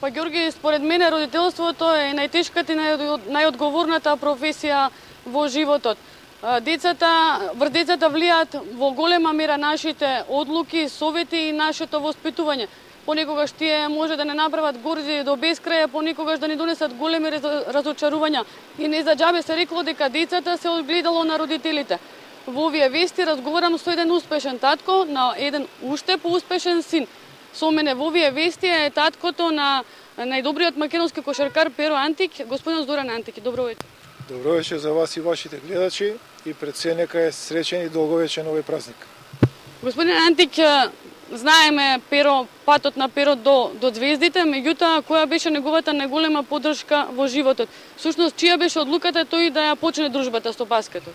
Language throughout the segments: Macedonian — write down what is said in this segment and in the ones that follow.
Па Ѓорги, според мене родителството е најтешката и најодговорната професија во животот. Врз децата влијаат во голема мера нашите одлуки, совети и нашето воспитување. Понекогаш тие може да не направат горди до бескрај, понекогаш да ни донесат големи разочарувања. И не за џабе се рекло дека децата се огледало на родителите. Во овие вести разговарам со еден успешен татко на еден уште поуспешен син. Со мене во овие вести е таткото на најдобриот македонски кошаркар Перо Антик, господин Зоран Антик. Добро вечер. Добро вечер за вас и вашите гледачи и пред се нека е среќен и долговечен овој празник. Господин Антик, знаеме патот на Перо до звездите, меѓутоа која беше неговата најголема поддршка во животот? Всушност, чија беше одлуката тој да ја почне дружбата со баскетот?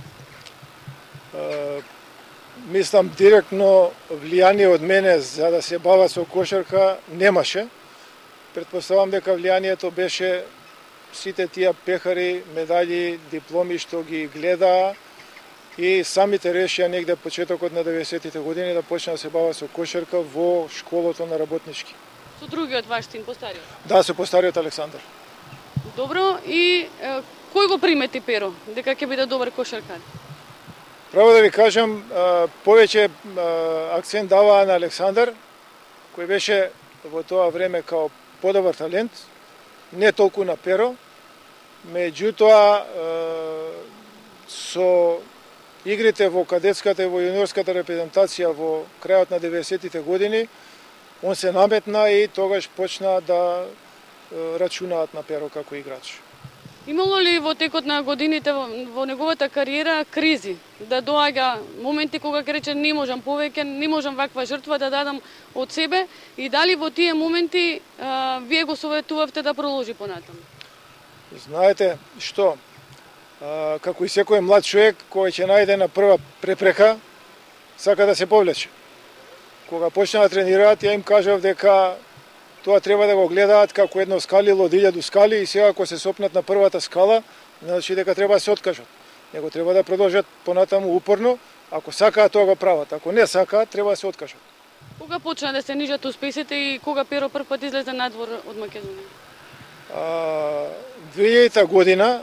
Мислам, директно влијание од мене за да се бава со кошарка немаше. Предпоставам дека влијанието беше сите тие пехари, медали, дипломи што ги гледаа и самите решија негде почетокот на 90-тите години да почне да се бава со кошарка во школото на работнички. Со другиот ваш син, постариот? Да, со постариот Александар. Добро, и кој го примети Перо, дека ќе биде добар кошаркар? Право да ви кажам, повеќе акцент даваа на Александар, кој беше во тоа време као подобар талент, не толку на Перо, меѓутоа со игрите во кадетската и во јуниорската репрезентација во крајот на 90-тите години, он се наметна и тогаш почна да рачунаат на Перо како играч. Имало ли во текот на годините во неговата кариера кризи? Да доаѓа моменти кога ќе рече не можам повеќе, не можам ваква жртва да дадам од себе, и дали во тие моменти вие го советувавте да продолжи понатаму? Знаете што, како и секој млад човек кој ќе најде на прва препрека, сака да се повлече. Кога почна да тренираат, ја им кажав дека тоа треба да го гледаат како едно скалило од 1000 скали и сега ако се сопнат на првата скала, значи дека треба да се откажат. Него треба да продолжат понатаму упорно, ако сакаат тоа го прават, ако не сакаат, треба да се откажат. Кога почна да се нижат успесите и кога Перо прв пат излезе надвор од Македонија? 2000 година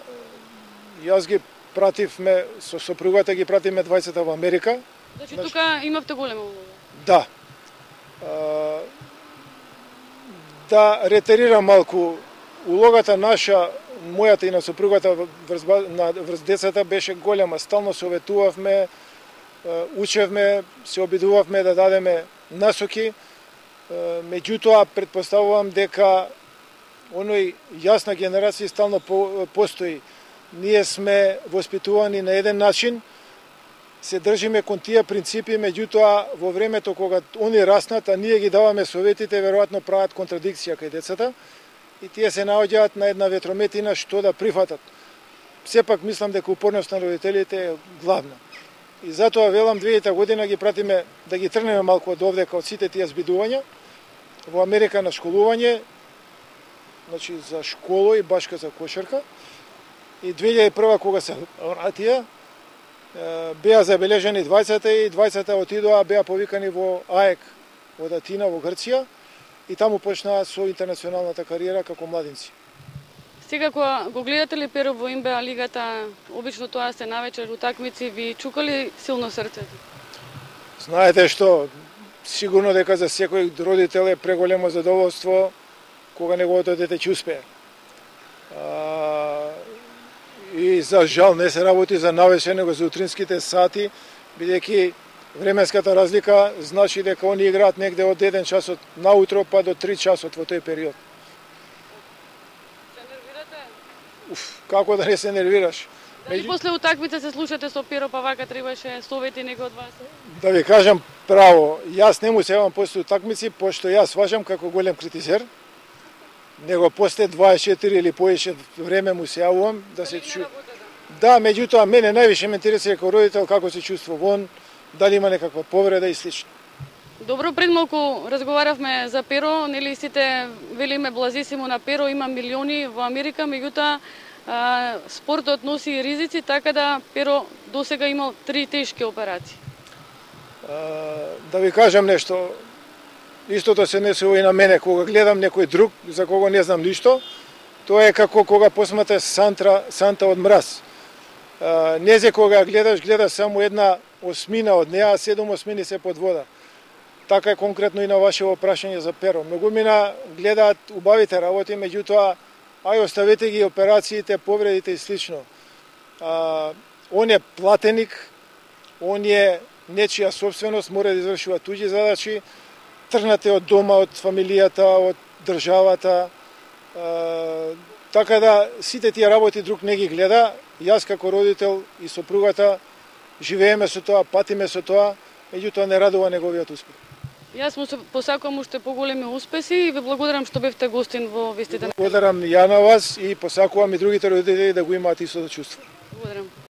јас ги пративме со сопругата, ги пративме двајцата во Америка. Значи тука имавте голема улога? Да. Да ретерирам малку, улогата наша, мојата и на сопругата врз децата беше голема. Стално советувавме, учевме, се обидувавме да дадеме насоки. Меѓутоа, предпоставувам дека оној јасна генерација стално постои. Ние сме воспитувани на еден начин, се држиме кон тие принципи, меѓутоа во времето кога они раснат, а ние ги даваме советите, веројатно прават контрадикција кај децата и тие се наоѓаат на една ветрометина што да прифатат. Сепак мислам дека упорност на родителите е главна. И затоа велам 2000 година ги пратиме да ги трнеме малку од овдека од сите тие збидувања во Америка на школување, значи за школа и башка за кошарка. И 2001 кога се вратија, беа забележени двајцата и двајцата отидоа, беа повикани во АЕК од Атина во Грција и таму почнаа со интернационалната кариера како младинци. Сега кога го гледате ли Перо во НБА лигата, обично тоа се навечер утакмици, ви чука ли силно срцето? Знаете што, сигурно дека за секој родител е преголемо задоволство кога неговото дете ќе успее. И за жал не се работи за навечер, него за утринските сати, бидејќи временската разлика значи дека они играат негде од 1 часот наутро па до 3 часот во тој период. Се нервирате? Како да не се нервираш? Дали после утакмица се слушате со Перо, па вака требаше совети некој од вас? Да ви кажам право, јас не му се јавам после утакмици, пошто јас важам како голем критизер, него после 24 или повеќе време му се јавувам да се чу. Да, меѓутоа мене највише ме интересира како родител како се чувствува он, дали има некаква повреда и слично. Добро, пред малку разговаравме за Перо, нели сите велиме блазисимо на Перо, има милиони во Америка, меѓутоа спортот носи ризици, така да Перо досега имал 3 тешки операции. Да ви кажам нешто, Истото се однесува и на мене, кога гледам некој друг за кого не знам ништо, тоа е како кога посматаш санта од мраз. Незе кога гледаш само една осмина од неа, а 7 осмини се под вода. Така е конкретно и на вашето прашање за перо. Многумина гледаат убавите работи, меѓутоа, ај оставете ги операциите, повредите и слично. Он е платеник, он е нечија собственост, мора да извршува туѓи задачи, тргнате од дома, од фамилијата, од државата, така да сите тие работи друг не ги гледа. Јас како родител и сопругата живееме со тоа, патиме со тоа, меѓутоа не радува неговиот успех. Јас му се посакувам уште поголеми успеси и ви благодарам што бевте гостин во вестите. Благодарам ја на вас и посакувам и другите родители да го имаат истото чувство. Благодарам.